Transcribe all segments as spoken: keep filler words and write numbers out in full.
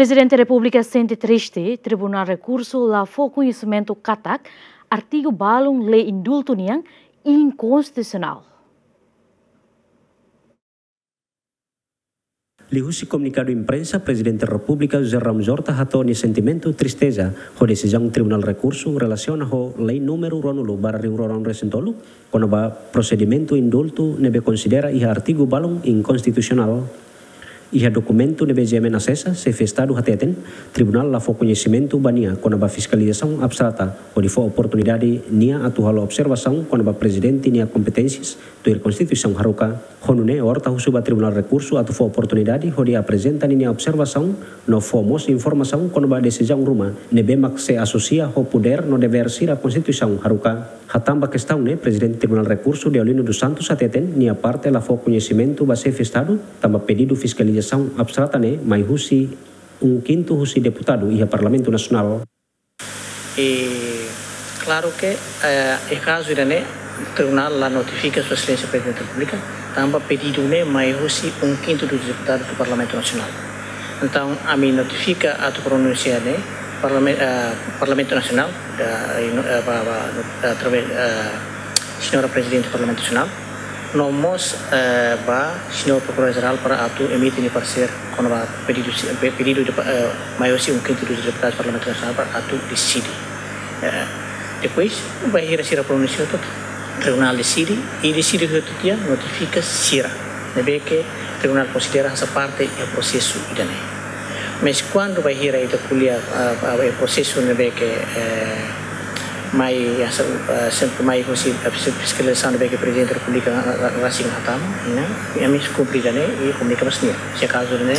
Prezidente Repúblika sente triste, Tribunál Rekursu la fó koñesimentu katak artigu balun lei indultu nian inkonstitusionál. Liuhusi komunikadu imprensa, Prezidente Repúblika José Ramos Horta hato'o nia sentimentu tristeza ho desizaun Tribunál Rekursu relasiona ho Lei númeru ruanulu barra rihun rua ruanulu resin tolu, kona-ba prosedimentu indultu ne'ebé konsidera iha artigu balun inkonstitusionál. Iha dokumentu ne'ebé G M N asesa, Xefe Estadu hateten, Tribunál la fó koñesimentu ba nia kona-ba fiskalizasaun abstrata, hodi fó oportunidade nia atu halo observasaun kona-ba Prezidente nia kompeténsias tuir Konstituisaun haruka. Ho nune'e Horta husu ba Tribunál Rekursu atu fó oportunidade hodi aprezenta ninia observasaun no fó mós informasaun kona-ba desizaun ruma ne'ebé mak sei asosia ho podér no devér sira Konstituisaun haruka. Hatán ba kestaun ne'e, Prezidente Tribunál Rekursu Deolino dos Santos hateten, nia parte la fó koñesimentu ba Xefe Estadu, tanba pedidu fiskalizasaun abstrata ne'e mai husi um quinto husi deputadu iha Parlamentu Nasionál. E klaru ke, eh, iha kazu ida-ne'e, Tribunál la notifika Sua Exelénsia Prezidente Repúblika, tanba pedidu ne'e mai husi um quinto dos deputados do Parlamento Nacional. Entaun, ami notifika atu pronunsia ne'e Parlamen-, eh, Parlamentu Nasionál, da, eh, no, eh, ba, ba, no, através, eh, Señora Prezidente Parlamentu Nasionál, no mós, eh, ba Señór Prokuradór Jerál para atu emite nia paresér kona-ba pedidu si-, pe-, pedidu de pa-, eh, mai husi um quinto dos deputados Parlamentu Nasionál para atu deside. Eh, depois, bainhira sira pronunsia hotu, Tribunál deside, i deside hotu tiha notifika sira ne'ebé ke Tribunál konsidera hanesan parte iha prosesu ida-ne'e. Mas kuandu bainhira ita ko'alia, ah, ah, iha prosesu ne'ebé ke, eh, mai, ah, se-, ah, sempre mai husi, ah, fis-, fiskalizasaun ne'ebé ke Prezidente Repúblika, ah, ah, rasik hatama, ne'e, ami kumpre ida-ne'e i komunika ba sira-nia. Se kazu ne'e,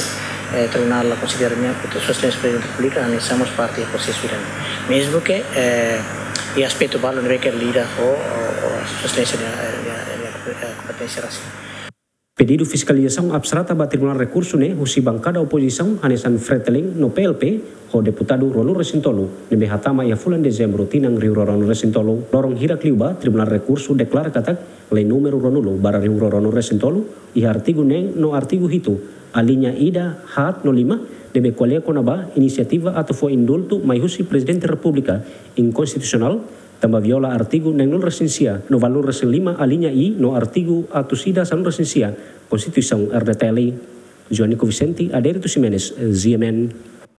eh, Tribunál la konsidera nia, entaun Sua Exelénsia Prezidente Repúblika, ami somos parte iha prosesu ida-ne'e. Mezmu ke, eh, iha aspetu balun ne'ebé ke lida ho, ho, ho Sua Exelénsia nia, nia, nia, eh, kompeténsia rasik. Pedidu fiskalizasaun abstrata ba Tribunál Rekursu ne'e husi bankada opozisaun hanesan Fretilin no P L P, ho deputadu ruanulu resin tolu, ne'ebé hatama iha fulan Dezembru tinan rihun rua ruanulu resin tolu. Loron hirak liubá, Tribunál Rekursu deklara katak Lei númeru ruanulu barra rihun rua ruanulu resin tolu, iha artigu neen no artigu hitu, aliña ida, haat no lima, ne'ebé ko'alia kona-ba inisiativa atu fó indultu mai husi Prezidente Repúblika inkonstitusionál, tanba viola artigu neenulu resin sia no ualunulu resin lima aliña i no artigu atus ida sanulu resin sia Konstituisaun R D T L. Joanico Vicente, Adérito Ximenes, G M N.